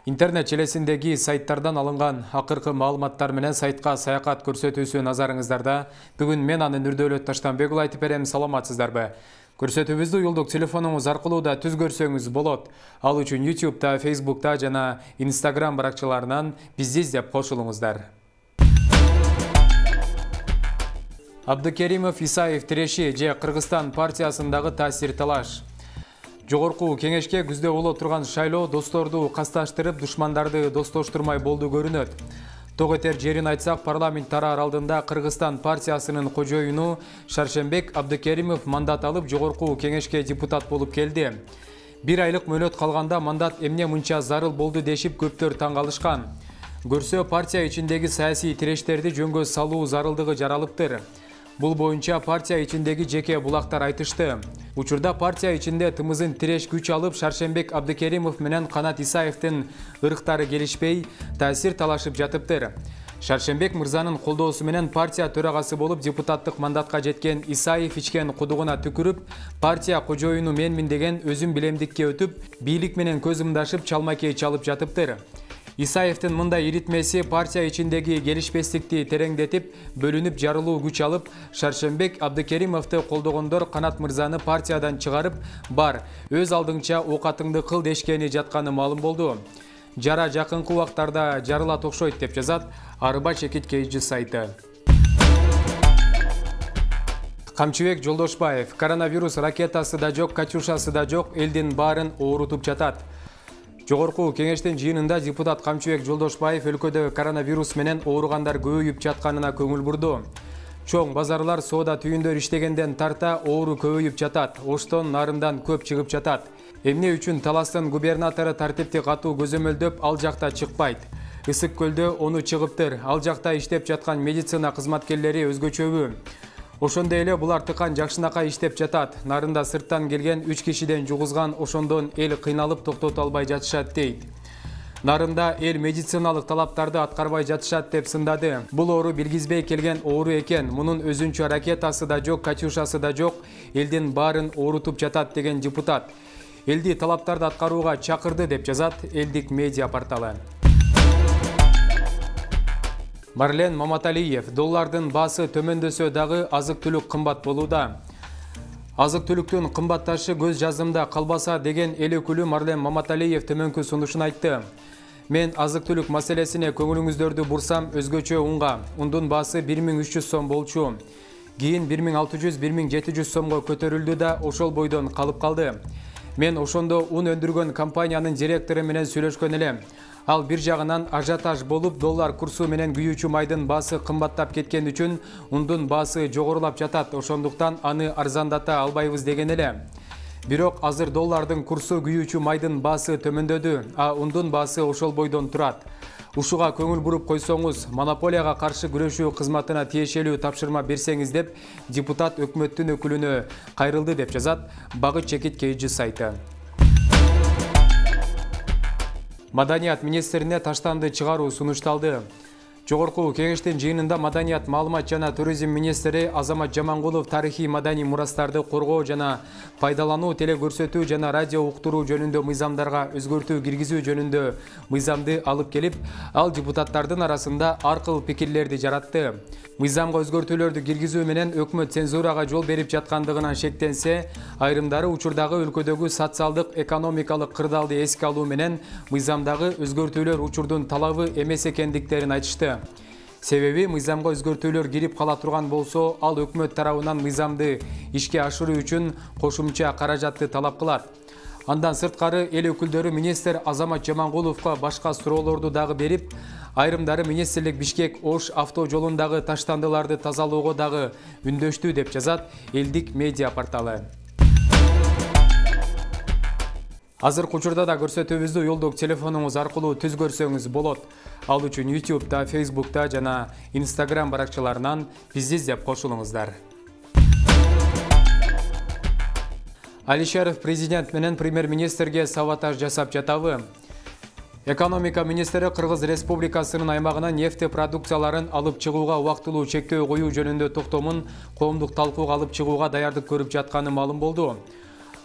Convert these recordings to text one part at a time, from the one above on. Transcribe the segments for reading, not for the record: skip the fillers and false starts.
Интернет желесиндеги сайттардан алынган акыркы маалыматтар менен сайтка саякат көрсөтүүсү назарыңыздарда. Бүгүн мен аны Нурдөөлөт Таштанбек уулу айтып берем. Саламатсыздарбы? Көрсөтүүбүздү уюлдук телефонуңуз аркылуу да түз көрсөңүз болот. Ал үчүн YouTube'да, Facebook'та жана Instagram баракчаларынан бизди издеп кошулуңуздар. Абдыкеримов Исаев тиреши же Кыргызстан партиясындагы таасир талаш. Жогорку кеңешке күздө боло турган шайлоо досторду касташтырып, душмандарды достоштурмай болду көрүнөт. Ток этер жерин айтсак, парламент тараар алдында Кыргызстан партиясынын кожоюну Шаршембек Абдыкеримов мандат алып, жогорку кеңешке депутат болуп келди. Бир айлык мөөнөт калганда мандат эмне мынча зарыл болду дешип көптөр таң калышкан. Көрсө, партия ичиндеги саясий тирештерди жөнгө салуу зарылдыгы жаралыптыр. Бул боюнча партия ичиндеги жеке булактар айтышты. Учурда партия ичинде тымызын тиреш күч алып, Шаршембек Абдыкеримов менен Канат Исаевдин ырыктары келишпей, таасир талашып жатыптыр. Шаршембек мырзанын колдоосу менен партия төрагасы болуп депутаттык мандатка жеткен Исаев ичкен кудугуна түкүрүп, партия кожоюну менмин деген өзүн билемдикке өтүп, бийлик менен көз ымдашып, чалмакей чалып жатыптыр. Исаевдин мындай иритмеси партия ичиндеги келишпестикти тереңдетип, бөлүнүп жарылуу күч алып, Шаршембек Абдыкеримовду колдогондор Канат мырзаны партиядан чыгарып, бар, өз алдыңча окатыңды кыл дешкени жатканы маалым болду. Жара жакынкы убактарда жарылат окшойт деп жазат Арыба Чекит KG сайты. Камчыбек Жолдошбаев: коронавирус ракетасы да жок, катюшасы да жок, элдин баарын оорутуп жатат. Жогорку кеңештин жыйынында депутат Камчыбек Жолдошбаев өлкөдө коронавирус менен ооругандар көбөйүп жатканына көңүл бурду. Чоң базарлар, соода түйүндөр иштегенден тарта оору көбөйүп жатат, оштон нарындан көп чыгып жатат. Эмне үчүн Таластын губернатору тартипти катуу көзөмөлдөп, ал жакта чыкпайт? Ысык көлдө ону чыгыптыр, ал жакта иштеп жаткан медицина кызматкерлери өзгөчөбү? Ошондой эле булар тыкан жакшынакай иштеп жатат. Нарында сырттан келген 3 кишиден жугузган, ошондон эл кыйналып токтото албай жатышат дейт. Нарында эл медициналык талаптарды аткарбай жатышат деп сындады. Бул оору билгизбей келген оору экен. Мунун өзүнчө ракетасы да жок, катюшасы да жок, элдин баарын оорутуп жатат деген депутат элди талаптарды аткарууга чакырды деп жазат Элдик медиа порталы. Марлен Маматалиев: доллардын баасы төмөндөсө дагы азык-түлүк кымбат болууда. Азык-түлүктүн кымбатташы көз жазымда калбаса деген эл өкүлү Марлен Маматалиев төмөнкү сунушун айтты. Мен азык-түлүк маселесине көңүлүңүздөрдү бурсам, өзгөчө унга. Ундун баасы 1300 сом болчу. Кийин 1600-1700 сомго көтөрүлдү да ошол бойдон калып калды. Мен ошондо ун өндүргөн компаниянын директору менен сүйлөшкөн элем. Ал бир жагынан ажиотаж болуп, доллар курсу менен күйүүчү майдын баасы кымбаттап кеткен үчүн ундун баасы жогорулап жатат, ошондуктан аны арзандата албайбыз деген эле. Бирок азыр доллардын курсу күйүүчү майдын баасы төмөндөдү, а ундун баасы ошол бойдон турат. Ушуга көңүл буруп койсоңуз, монополияга каршы күрөшүү кызматына тиешелүү тапшырма берсеңиз деп депутат өкмөттүн өкүлүнө кайрылды деп жазат Багыт Чекит KG сайты. Маданият министрине таштанды чыгаруу сунушталды. Жогорку кеңештин жыйынында Маданият, маалымат жана туризм министри Азамат Жамангулов тарыхый маданий мурастарды коргоо жана пайдалануу, телекөрсөтүү жана радио уктуруу жөнүндө мыйзамдарга өзгөртүү киргизүү жөнүндө мыйзамды алып келип, ал депутаттардын арасында ар кыл пикирлерди жаратты. Мыйзамга өзгөртүүлөрдү киргизүү менен өкмөт цензурага жол берип жаткандыгынан шектенсе, айрымдары учурдагы өлкөдөгү социалдык, экономикалык кырдаалды эске алуу менен мыйзамдагы өзгөртүүлөр учурдун талабы эмес экендиктерин айтышты. Себеби мыйзамга өзгөртүүлөр кирип кала турган болсо, ал өкмөт тарабынан мыйзамды ишке ашыруу үчүн кошумча каражатты талап кылат. Андан сырткары эл өкүлдөрү министр Азамат Жамангуловго башка суроолорду дагы берип, айрымдары министрлик Бишкек-Ош автожолундагы таштандыларды тазалоого дагы үндөштү деп жазат Элдик медиа порталы. Азыркы учурда да көрсөтүүбүздү уюлдук телефонуңуз аркылуу түз көрсөңүз болот. Ал үчүн YouTube'да, Facebook'та жана Instagram баракчаларынан бизди издеп кошулуңуздар. Алишеров президент менен премьер-министрге саботаж жасап жатабы? Экономика министри Кыргыз Республикасынын аймагынан нефти продукцияларын алып чыгууга убактылуу чектөө коюу жөнүндө токтомун коомдук талкууга алып чыгууга даярдык көрүп жатканы маалым болду.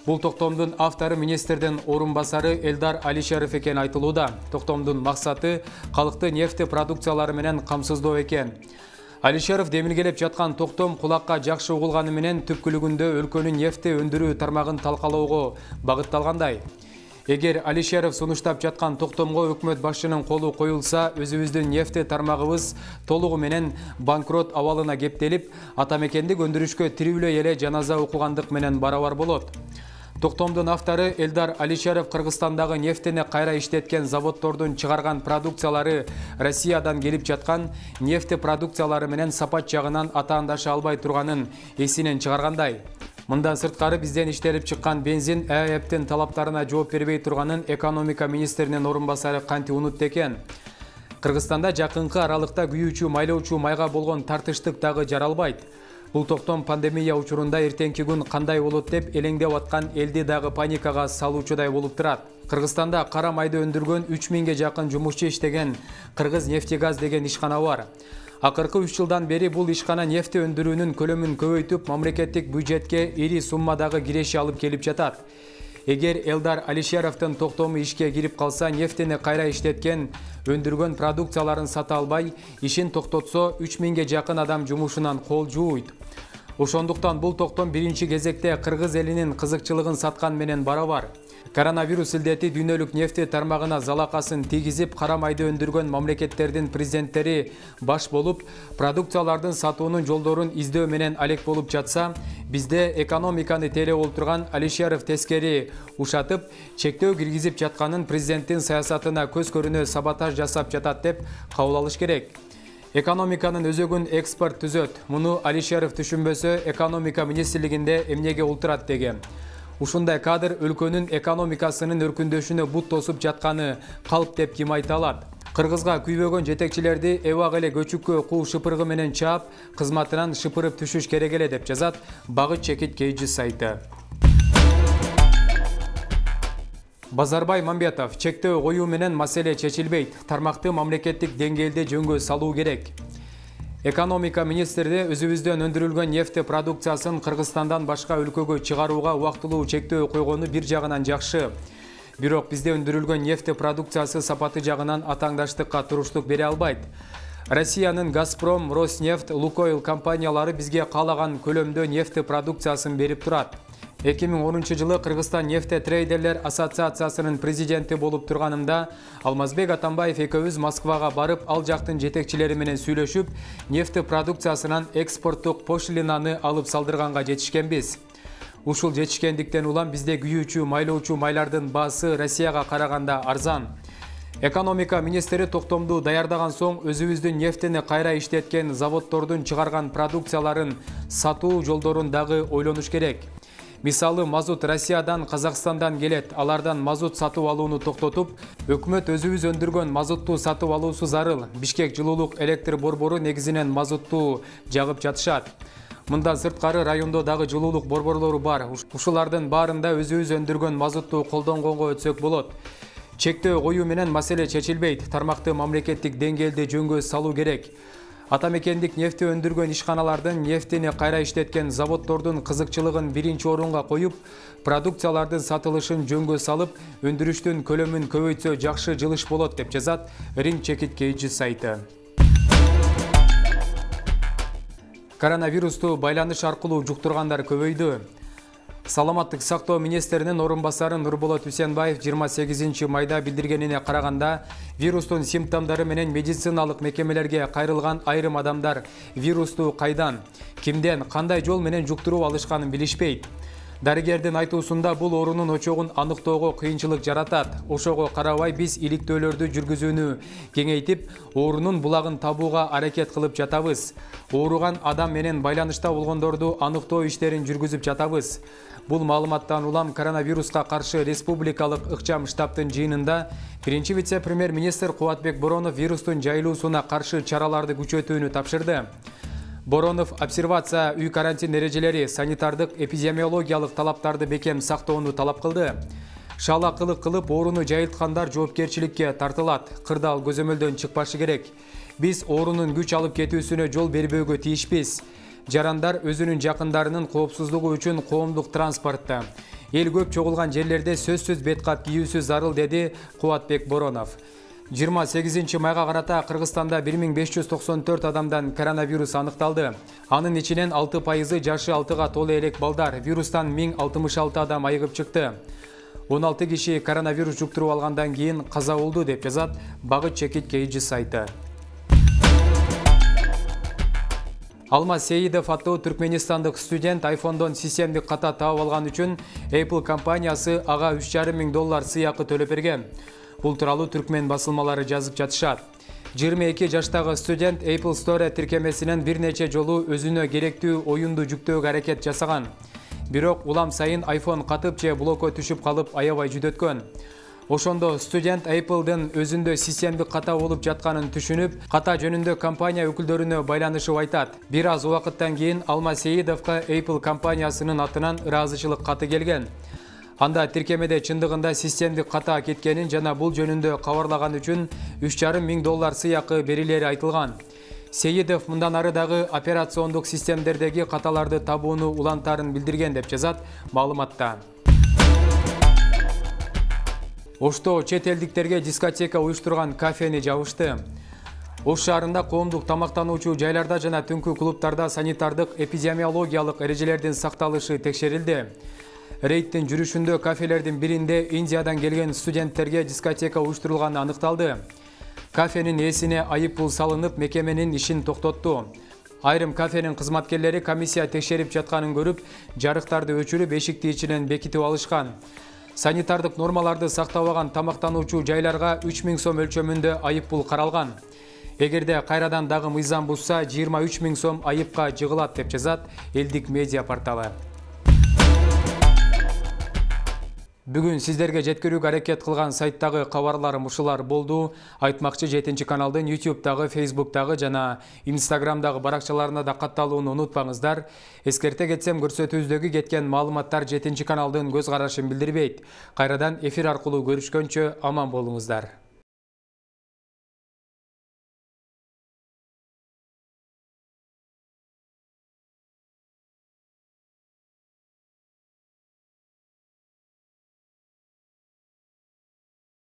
Бул токтомдун автору министрдин орун басары Элдар Алишеров экен айтылууда. Токтомдун максаты калкты нефть продукциялары менен камсыздоо экен. Алишеров демилгелеп жаткан токтом кулакка жакшы угулганы менен түпкүлүгүндө өлкөнүн нефть өндүрүү тармагын талкалоого багытталгандай. Эгер Алишеров сунуштап жаткан токтомго өкмөт башчынын колу коюлса, өзүбүздүн нефть тармагыбыз толугу менен банкрот абалына кептелип, атамекендик өндүрүшкө тирүүлөй эле жаназа окугандык менен барабар болот. Токтомдун автору Элдар Алишеров Кыргызстандагы нефтени кайра иштеткен заводдордун чыгарган продукциялары Россиядан келип жаткан нефть продукциялары менен сапат жагынан атаандаша албай турганын эсинен чыгаргандай. Мындан сырткары бизден иштелип чыккан бензин ЭЭПтин талаптарына жооп бербей турганын экономика министринин орун басары канти унутты экен. Кыргызстанда жакынкы аралыкта күйүүчү майлоочу майга болгон тартыштык дагы жаралбайт. Бул токтом пандемия учурунда эртеңки күн кандай болот деп элеңдеп аткан элди дагы паникага салуучудай болуп турат. Кыргызстанда кара майды өндүргөн 3000ге жакын жумушчу иштеген Кыргыз нефтегаз деген ишкана бар. Акыркы 3 жылдан бери бул ишкана нефть өндүрүүнүн көлөмүн көбөйтүп, мамлекеттик бюджетке ири суммадагы киреше алып келип жатат. Эгер Элдар Алишеровдун токтому ишке кирип калса, нефтени кайра иштеткен, өндүргөн продукцияларын сата албай, ишин токтотсо, 3000ге жакын адам жумушунан кол жууйт. Ошондуктан бул токтом биринчи кезекте кыргыз элинин кызыкчылыгын саткан менен барабар. Коронавирус илдети дүйнөлүк нефть тармагына залакасын тийгизип, кара майды өндүргөн мамлекеттердин президенттери баш болуп, продукциялардын сатуунун жолдорун издөө менен алек болуп жатса, бизде экономиканы тейлеп олтурган Алишеров тескери ушатып, чектөө киргизип жатканын президенттин саясатына көз көрүнө саботаж жасап жатат деп кабыл алыш керек. Экономиканын өзөгүн экспорт түзөт. Муну Алишеров түшүнбөсө, экономика министрлигинде эмнеге олтурат деген. Ушундай кадр өлкөнүн экономикасынын өркүндөшүнө бут тосуп жатканы калп деп ким айта алат? Кыргызга күйбөгөн жетекчилерди эбак эле көчүккө куу шыпыргы менен чаап, кызматынан шыпырып түшүш керек эле деп жазат Багыт Чекит Кейджи сайты. Базарбай Мамбетов: чектөө коюу менен маселе чечилбейт. Тармакты мамлекеттик деңгээлде жөнгө салуу керек. Экономика министрде өзүбүздөн өндүрүлгөн нефть продукциясын Кыргызстандан башка өлкөгө чыгарууга убактылуу чектөө койгону бир жагынан жакшы. Бирок бизде өндүрүлгөн нефть продукциясы сапаты жагынан атаңдаштыкка туруштук бере албайт. Россиянын Газпром, Роснефть, Лукойл компаниялары бизге каалаган көлөмдө нефть продукциясын берип турат. 2010 жылы Кыргызстан нефть трейдерлер ассоциациясынын президенти болуп турганымда Алмазбек Атамбаев экөөбүз Москвага барып, ал жактын жетекчилери менен сүйлөшүп, нефть продукциясынан экспорттук пошлинаны алып салдырганга жетишкенбиз. Ушул жетишкендиктен улам бизде күйүүчү майлоочу майлардын баасы Россияга караганда арзан. Экономика министри токтомду даярдаган соң өзүбүздүн нефтени кайра иштеткен заводдордун чыгарган продукцияларын сатуу жолдорун дагы ойлонуш керек. Мисалы, мазут Россиядан, Казакстандан келет. Алардан мазут сатып алууну токтотуп, өкмөт өзүбүз өндүргөн мазутту сатып алуусу зарыл. Бишкек жылуулук электр борбору негизинен мазутту жагып жатышат. Мындан сырткары райондо дагы жылуулук борборлору бар. Ушулардын баарында өзүбүз өндүргөн мазутту колдонгонго өтсөк болот. Чектөө коюу менен маселе чечилбейт. Тармакты мамлекеттик деңгээлде жөнгө салуу керек. Атамекендик нефть өндүргөн ишканалардын нефтени кайра иштеткен заводдордун кызыкчылыгын биринчи орунга коюп, продукциялардын сатылышын жөнгө салып, өндүрүштүн көлөмүн көбөйтсө жакшы жылыш болот деп жазат Ринг Чекит Кейджи сайты. Коронавирусту байланыш аркылуу жуктургандар көбөйдү. Саламаттык сактоо министринин орун басары Нурболот Үсенбаев 28 майда билдиргенине караганда, вирустун симптомдору менен медициналык мекемелерге кайрылган айрым адамдар вирусту кайдан, кимден, кандай жол менен жуктуруп алышканын билишпейт. Дарыгердин айтуусунда бул оорунун очогун аныктоого кыйынчылык жаратат. Ошого карабай биз иликтөөлөрдү жүргүзүүнү кеңейтип, оорунун булагын табууга аракет кылып жатабыз. Ооруган адам менен байланышта болгондорду аныктоо иштерин жүргүзүп жатабыз. Бул маалыматтан улам коронавируска каршы республикалык ыкчам штабтын жыйынында биринчи вице-премьер-министр Кубатбек Боронов вирустун жайылуусуна каршы чараларды күчөтүүнү тапшырды. Боронов обсервация, үй карантин эрежелери, санитардык эпидемиологиялык талаптарды бекем сактоону талап кылды. Шаалакылык кылып ооруну жайылткандар жоопкерчиликке тартылат. Кырдаал көзөмөлдөн чыкпашы керек. Биз оорунун күч алып кетүүсүнө жол бербөөгө тийишпиз. Жарандар өзүнүн жакындарынын коопсуздугу үчүн коомдук транспортто, Эл көп чогулган жерлерде сөзсүз бет кап кийүүсү зарыл, деди Кубатбек Боронов. 28 майга карата Кыргызстанда 1594 адамдан коронавирус аныкталды. Анын ичинен 6% жашы 6-га толо элек балдар. Вирустан 1066 адам айыгып чыкты. 16 киши коронавирус жуктуруп алгандан кийин каза болду, деп жазат Багыт Чекит KG сайты. Алмаз Сейидов аттуу түркменистандык студент iPhone'дон системдик ката таап алган үчүн Apple компаниясы ага $3,500 сыйакы төлөп берген. Бул тууралуу түркмен басылмалары жазып жатышат. 22 жаштагы студент Apple Store тиркемесинен бир нече жолу өзүнө керектүү оюнду жүктөөгө аракет жасаган. Бирок улам сайын iPhone катып же блокко түшүп калып аябай жүдөткөн. Ошондо студент Apple'дын өзүндө системдик ката болуп жатканын түшүнүп, ката жөнүндө компания өкүлдөрүнө байланышып айтат. Бир аз убакыттан кийин Алмаз Сейидовго Apple компаниясынын атынан ыраазычылык каты келген. Анда тиркемеде чындыгында системдик ката кеткенин жана бул жөнүндө кабарлаган үчүн $3,500 сыйакы берилери айтылган. Сейидов мындан ары дагы операциондук системдердеги каталарды табууну улантарын билдирген, деп жазат маалыматта. Ошто чет элдиктерге дискотека уюштурган кафени жабышты. Ош шаарында коомдук тамактануучу жайларда жана түнкү клубтарда санитардык эпидемиологиялык эрежелердин сакталышы текшерилди. Рейдтин жүрүшүндө кафелердин биринде Индиядан келген студенттерге дискотека уюштурулганы аныкталды. Кафенин ээсине айып пул салынып, мекеменин ишин токтотту. Айрым кафенин кызматкерлери комиссия текшерип жатканын көрүп, жарыктарды өчүрүп, эшикти ичинен бекитип алышкан. Санитардык нормаларды сактабаган тамактануучу жайларга 3000 сом өлчөмүндө айып пул каралган. Эгерде кайрадан дагы мыйзам бузса, 23 000 сом айыпка жыгылат, деп жазат элдик медиа порталы. Бүгүн сиздерге жеткирүүгө аракет кылган сайттагы кабарларым ушулар болду. Айтмакчы 7 каналдын YouTube'дагы, Facebook'дагы жана Instagram'дагы баракчаларына да катталууну унутпаңыздар. Эскерте кетсем, көрсөтүүбүздөгү кеткен маалыматтар 7 каналдын көз карашын билдирбейт. Кайрадан эфир аркылуу көрүшкөнчө аман болуңуздар.